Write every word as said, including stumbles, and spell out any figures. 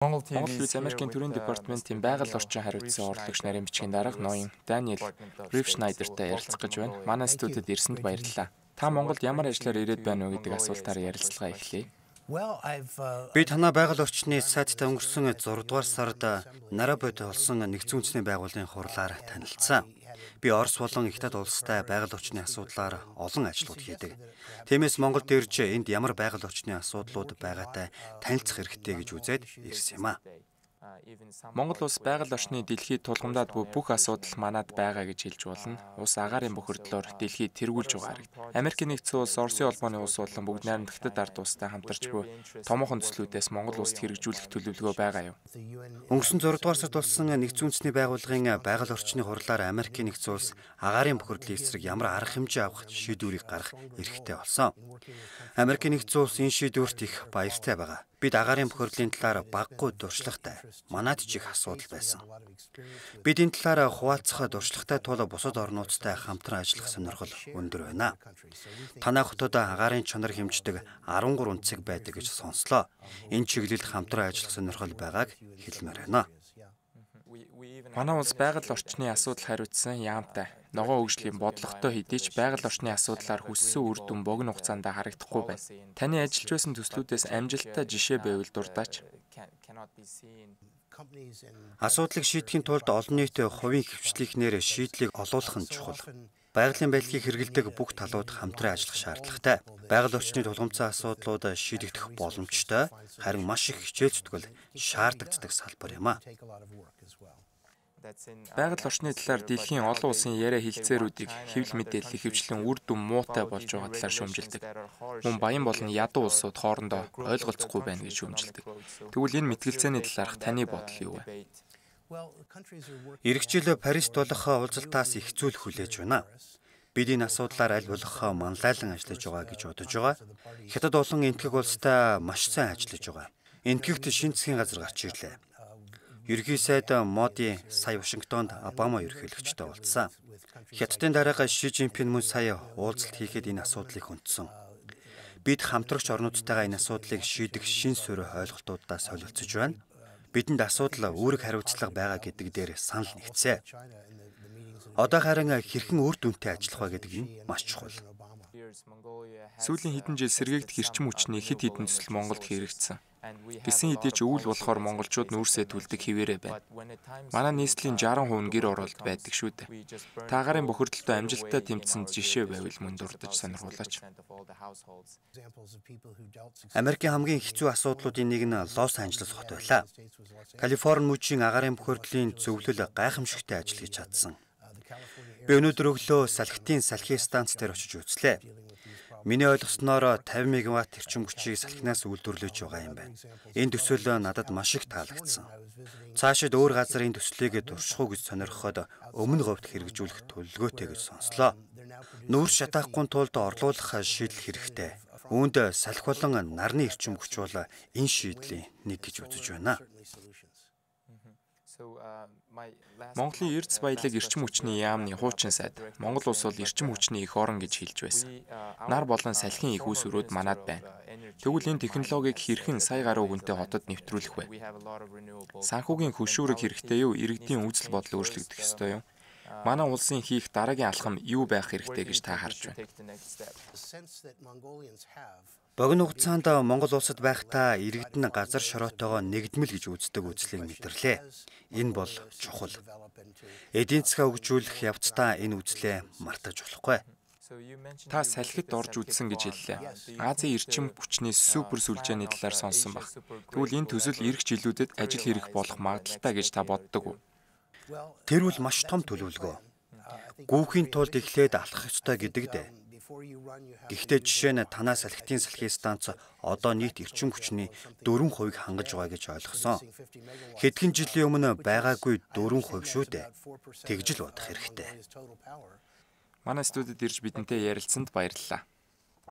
Монгол Улс Америкийн төрийн департаментийн байгаль орчин хариуцсан урлагч нарийн бичгийн дарга ноён Даниэл Рившнайдертай ярилцах гэж байна. Манай студид ирсэнд баярлалаа. Та Монголд ямар ажлаар ирээд байна вэ гэдэг асуултаар ярилцлага эхлэе. Би танаа байгаль орчны сайттай өнгөрсөн зураг дугаар сард Нарабод болсон нэгдсэн үндэсний байгууллагын хурлаар танилцсан. Би Орос болон Хятад улстай байгаль орчны асуудлаар олон ажлууд хийдэг. Тиймээс Монголд ирж энд ямар байгаль орчны асуудлууд байгаатай танилцах хэрэгтэй гэж үзээд ирсэн юм а. Монгол улс байгаль орчны дэлхийд тулгамдаад буй бүх асуудал манад байгаа гэж хэлж болно. Улс агаарын бохирдлоор дэлхийд тэргүүлж байгаа харагдана. Америкийн нэгдсэн улс, Оросын холбооны улс болон бүгд найрамдагтад ард улстай хамтарч буй томоохон төслүүдээс Монгол улсад хэрэгжүүлэх төлөвлөгөө байгаа юу? Өнгөрсөн зураг дугаар сард болсон нэгдсэн үндэсний байгууллагын байгаль орчны хурлаар Америкийн нэгдсэн улс агаарын бохирдлын эсрэг ямар арга хэмжээ авах шийдвэрийг гаргах эрхтэй болсон. Америкийн нэгдсэн улс энэ шийдвэрт их баяртай байгаа. Бид агаарын бохирдлын талаар баггүй дуршлагтай. Манайд ч их асуудал байсан. Бид энэ талаар хуваалцах дуршлагтай тул бусад орнуудтай хамтран ажиллах сонирхол өндөр байна. Танай хотод агаарын чанар хэмждэг арван гурван цэг байдаг гэж сонслоо. Энэ чиглэлд хамтран ажиллах сонирхол байгааг хэлмээр байна. Манай улс байгаль орчны асуудал хариуцсан яамтай. Ногоон хөгжлийн бодлоготой хэдий ч байгаль орчны асуудлаар хүссэн үр дүн богино хугацаанд харагдахгүй байна. Таны ажиллаж байсан төслүүдээс амжилттай жишээ байвал дурдаач. Асуудлыг шийдэхийн тулд олон нийтийн хувийн хвшлийнхнээр шийдлийг олуулах нь чухал. Байгалийн байлгийг хэрэгэлдэг бүх талууд хамтран ажиллах шаардлагатай. Байгаль орчны тулгымцсан асуудлууд шийдэгдэх боломжтой, харин маш их хичээл зүтгэл шаардагддаг салбар юм а. Байгаль орчны талаар дэлхийн олон улсын яриа хэлцээрүүдийг хэвлэл мэдээлэл ихэвчлэн үр дүн муутай болж байгаа талаар шүүмжилдэг. Мөн баян болон ядуу улсууд хоорондоо ойлголцохгүй байна гэж шүүмжилдэг. Тэгвэл энэ мэтгэлцээний талаарх таны бодол юу вэ? Ирэх жил Парист болох уулзалтаас их зүйл хүлээж байна. Бид энэ асуудлаар аль болох манлайлан ажиллаж байгаа гэж бодож байгаа. Хятад болон энэтхэг улстай маш сайн ажиллаж байгаа. Энэтхэгт шинэ засгийн газар гарч ирлээ. Ерөнхий сайд Моди сая Вашингтонд Обама ерөнхийлөгчтэй уулзсан. Хятадын дараагаар Ши Жинпин мөн сая уулзалт хийхэд энэ асуудлыг хүндсэн. Бид хамтрагч орнуудтайгаа энэ асуудлыг шийдэх шин суурь ойлголтуудаа солилцож байна. Бидэнд асуудал үүрэг хариуцлага байгаа гэдэг дээр санал нэгцээ. Одоо харин хэрхэн үр дүнтэй ажиллах вэ гэдэг нь маш чухал. Сүүлийн хэдэн жил сэргээгдэх эрчим хүчний хэд хэдэн төсөл Монголд хэрэгжсэн. Гэсэн хэдий ч өвөл болохоор монголчууд нүүрсээ түлдэг хിവэрэ байна. Манай нийслэлийн шаран хувь нь гэр оролт байдаг шүү дээ. Та агаарын бохирдолтой амжилттай тэмцсэн жишээ байвал мөн дурдж сонирхуулаач. Америкийн хамгийн хэцүү асуудлуудын нэг нь Лос Анжелес хот байлаа. Калифорни мужийн агаарын бохирдлын зөвлөл гайхамшигтай ажил хийж чадсан. Би өнөөдөр өглөө салхитын салхи станц дээр очиж үзлээ. Миний ойлгосноор тавин мегаватт эрчим хүчийг салхинаас үйлдвэрлэж байгаа юм байна. Энэ төсөл надад маш их таалагдсан. Цаашид өөр газар энэ төслийг турших уу гэж сонирхоход өмнө говьд хэрэгжүүлэх төлөвлөгөөтэй гэж сонслоо. Нүүрс шатаахгүй тулд орлуулах шийдэл хэрэгтэй. Үүнд салхи болон нарны эрчим хүч бол энэ шийдлийн нэг гэж үзэж байна. Монголын эрдэс баялаг эрчим хүчний яамны хуучин сайд Монгол улс бол эрчим хүчний эх орон гэж хэлж байсан. Нар болон салхин их үүсвэрүүд манад байна. Тэгвэл энэ технологиг хэрхэн сая гаруй хүнтэй хотод нэвтрүүлэх вэ? Санхүүгийн хөшүүрэг хэрэгтэй юу? Иргэдийн үзэл бодол өөрчлөгдөх ёстой юу? Манай улсын хийх дараагийн алхам юу байх хэрэгтэй гэж та харж байна? Богино хугацаанд Монгол улсад байхдаа иргэд нь газар шороотойгоо нэгдмэл гэж үздэг үзлийг мэдэрлээ. Энэ бол чухал. Эдийн засгаа хөгжүүлэх явцдаа энэ үзлээ мартаж болохгүй. Та салхид орж үзсэн гэж хэллээ. Азийн эрчим хүчний супер сүлжээний талаар сонссон баг. Тэгвэл энэ төсөл ирэх жилүүдэд ажил хэрэг болох магадaltaй гэж та боддог уу? Тэр бол маш том төлөвлөгөө. Гүүхийн тулд эхлээд алхах ёстой гэдэг дээ. Гэхдээ жишээ нь танаа салхитын салхи станц одоо нийт эрчим хүчний дөрвөн хувийг хангаж байгаа гэж ойлгосон. Хэдхэн жилийн өмнө байгаагүй дөрвөн хувь шүү дээ. Тэгж л бодох хэрэгтэй. Манай студид ирж бидэнтэй ярилцсанд баярлалаа.